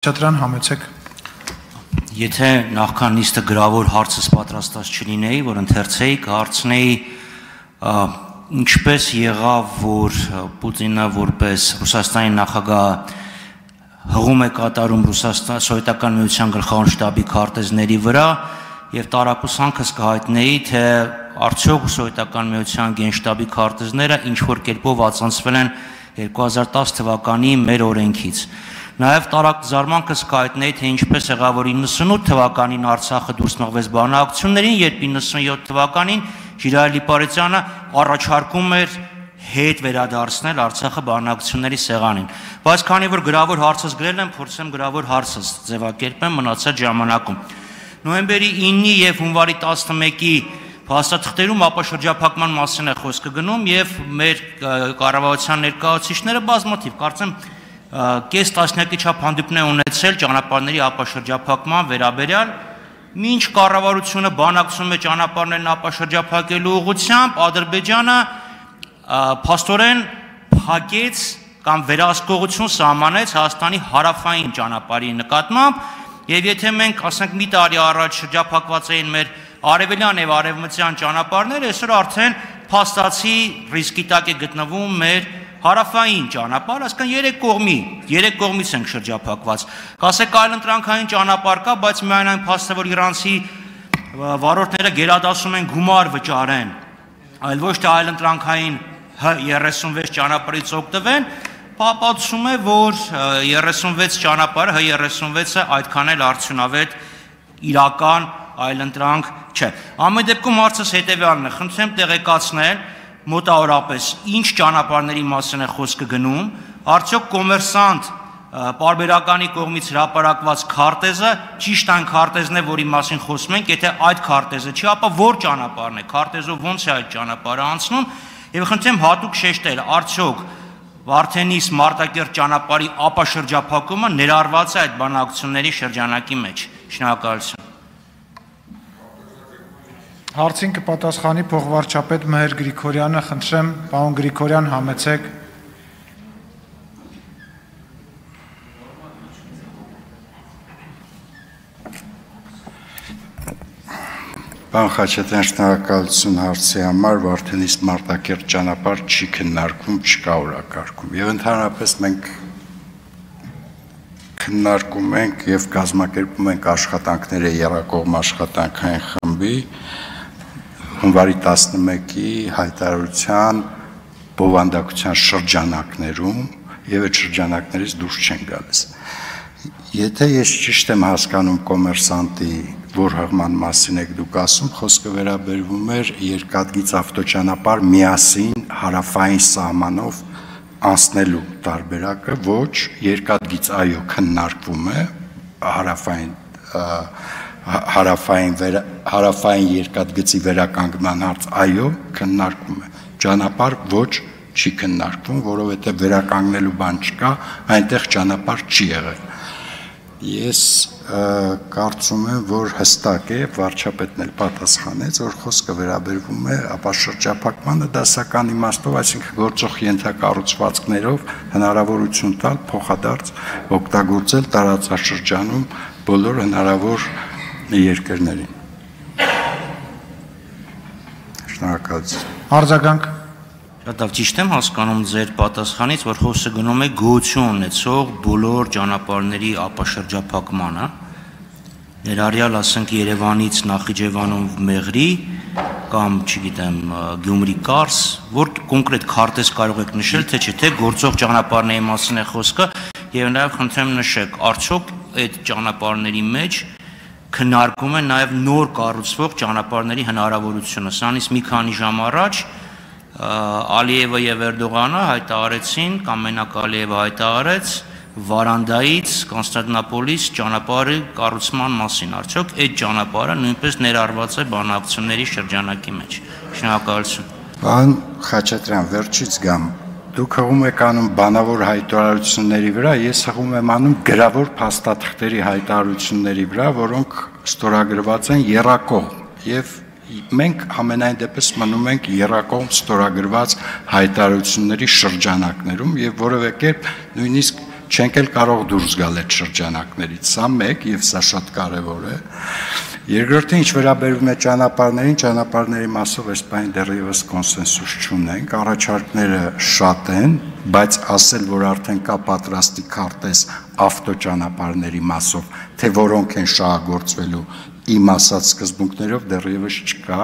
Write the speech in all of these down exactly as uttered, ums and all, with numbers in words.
Չատրան համեցեք։ Եթե նախքան նիստը գրավոր հարցս պատրաստած չլինեի, որ ընթերցեի, կհարցնեի ինչպես եղավ, որ Պուտինը որպես Ռուսաստանի նախագահ հղում է կատարում Ռուսաստան սովետական միության գլխավոր շտաբի քարտեզների վրա եւ տարակուսանքս կհայտնեի, թե արդյոք սովետական միության գենշտաբի քարտեզները ինչ որ կերպով ածանցվել են երկու հազար տասը թվականի մեր օրենքից։ Նաև տարակ զարմանքս կհայտնեի, թե ինչպես եղավ, որ իննսունութ թվականին Արցախը դուրս մղվեց բանակցություններին, երբ իննսունյոթ թվականին Ժիրայել Իպարյանը առաջարկում էր հետ վերադարձնել Արցախը բանակցությունների սեղանին։ Բայց քանի որ գրավոր հարցս գրել եմ, փորձեմ գրավոր հարցս ձևակերպեմ մնացած ժամանակում։ Նոյեմբերի ինը եւ հունվարի տասնմեկի փաստաթղթերում ապաշրջափակման մասին է խոսքը գնում եւ մեր կառավարության ներկայացուցիչները բազմաթիվ, կարծեմ կես տասնյակի չափ հանդիպներ ունեցել ճանապարհների ապաշրջափակման վերաբերյալ, մինչ կառավարությունը բանակցում է ճանապարհներն ապաշրջափակելու ուղղությամբ, Ադրբեջանը փաստորեն փակեց կամ վերահսկողություն սահմանեց Հայաստանի հարավային ճանապարհի նկատմամբ, եւ եթե մենք ասենք մի տարի առաջ շրջափակված էին մեր արևելյան եւ արևմտյան ճանապարհները, այսօր արդեն փաստացի ռիսկի տակ է գտնվում մեր հարավային ճանապարհ, այսինքն երեք կողմի, երեք կողմից ենք շրջափակված։ Կասեք այլ ընտրանքային ճանապարհ կա, բայց միայն այն փաստը, որ իրանցի վարորդները գերադասում են գումար վճարեն, այլ ոչ թե այլ ընտրանքային Հ երեսունվեց ճանապարհից օգտվեն, ապացուցում է, որ երեսունվեց ճանապարհը, Հ երեսունվեցը այդքան էլ արդյունավետ իրական այլընտրանք չէ։ Ամեն դեպքում հարցս հետևյալն է, խնդրեմ տեղեկացնել մոտավորապես ինչ ճանապարհների մասին է խոսքը գնում, արդյոք կոմերսանտ պարբերականի կողմից հրապարակված քարտեզը ճիշտ այն քարտեզն է, որի մասին խոսում ենք, եթե այդ քարտեզը չի, ապա որ ճանապարհն է, քարտեզով ոնց է այդ ճանապարհը անցնում, եւ խնդրեմ հատուկ շեշտել, արդյոք Վարդենիս Մարտակերտ ճանապարհի ապաշրջափակումը ներառված է այդ բանակցությունների շրջանակի մեջ։ Շնորհակալություն։ Հարցին կպատասխանի փոխվարչապետ Մհեր Գրիգորյանը, խնդրեմ, պարոն Գրիգորյան, համեցեք։ Պարոն Խաչատրյան, շնորհակալություն հարցի համար, Վարդենիս Մարտակերտ ճանապարհ չի քննարկվում, չկա օրակարգում։ Եվ ընդհանրապես մենք քննարկում ենք եւ կազմակերպում ենք աշխատանքները եռակողմ աշխատանքային խմբի հունվարի տասնմեկի հայտարարության բովանդակության շրջանակներում եւ այդ շրջանակներից դուրս չեն գալիս։ Եթե ես ճիշտ եմ հասկանում կոմերսանտի որ հղման մասին եք դուք ասում, խոսքը վերաբերվում էր երկաթգիծ ավտոճանապարհ միասին հարավային սահմանով անցնելու տարբերակը, ոչ երկաթգիծ այո քննարկվում է հարավային հարավային հարավային երկաթգծի վերականգնման հարց այո քննարկվում է, ճանապարհ ոչ չի քննարկվում, որովհետև վերականգնելու բան չկա, այնտեղ ճանապարհ չի եղել։ Ես կարծում եմ, որ հստակ է, վարչապետն էլ պատասխանեց, որ խոսքը վերաբերվում է ապաշրջափակմանը դասական իմաստով, այսինքն գործող ենթակառուցվածքներով հնարավորություն տալ փոխադարձ օգտագործել տարածաշրջանում բոլոր հնարավոր երկրներին։ Շնորհակալություն։ Արձագանք։ Շատ լավ, ճիշտ եմ հասկանում ձեր պատասխանից, որ խոսքը գնում է գոյություն ունեցող բոլոր ճանապարհների ապաշրջափակմանը, ներառյալ ասենք Երևանից Նախիջևանով Մեղրի կամ, չգիտեմ, Գյումրի Կարս, որ կոնկրետ քարտեզ կարող եք նշել, թե չէ, թե գործող ճանապարհների մասին է խոսքը, եւ նաեւ խնդրեմ նշեք, արդյոք այդ ճանապարհների մեջ քննարկում է նաեւ նոր կառուցվող ճանապարհների հնարավորությունը։ Սրանից մի քանի ժամ առաջ Ալիևը եւ Էրդողանը հայտարարեցին, կամ մենակ Ալիևը հայտարարեց Վարանդայից Կոնստանտինոպոլիս ճանապարհի կառուցման մասին։ Արդյոք այդ ճանապարհը նույնպես ներառված է բանակցությունների շրջանակի մեջ։ Շնորհակալություն։ Պարոն Խաչատրյան, վերջից գամ։ Դուք հղում եք անում բանավոր հայտարարությունների վրա, ես հղում եմ անում գրավոր փաստաթղթերի հայտարարությունների վրա, որոնք ստորագրված են եռակողմ եւ մենք ամենայն դեպս մնում ենք եռակողմ ստորագրված հայտարարությունների շրջանակներում եւ որևէ կերպ նույնիսկ չենք էլ կարող դուրս գալ այդ շրջանակներից։ Սա մեկ եւ սա շատ կարեւոր է։ Երկրորդը, ինչ վերաբերում է ճանապարհներին, ճանապարհների մասով այս բանի դեռևս կոնսենսուս չունենք, առաջարկները շատ են, բայց ասել, որ արդեն կա պատրաստի քարտեզ ավտոճանապարհների մասով, թե որոնք են շահագործվելու իմ ասած սկզբունքներով դեռևս չկա,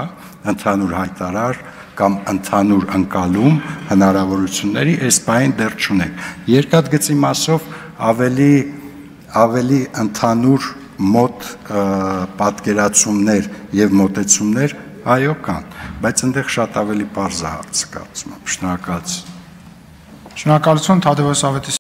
ընդհանուր հայտարար կամ ընդհանուր ընկալում հնարավորությունների այս բանին դեռ չունենք։ Երկաթգծի մասով ավելի ավելի ընդհանուր մոտ պատկերացումներ եւ մոտեցումներ այո կան, բայց այնտեղ շատ ավելի պարզ է հարցը կարծում եմ։ Շնորհակալություն։ Շնորհակալություն Թադևոս Ավետիսյան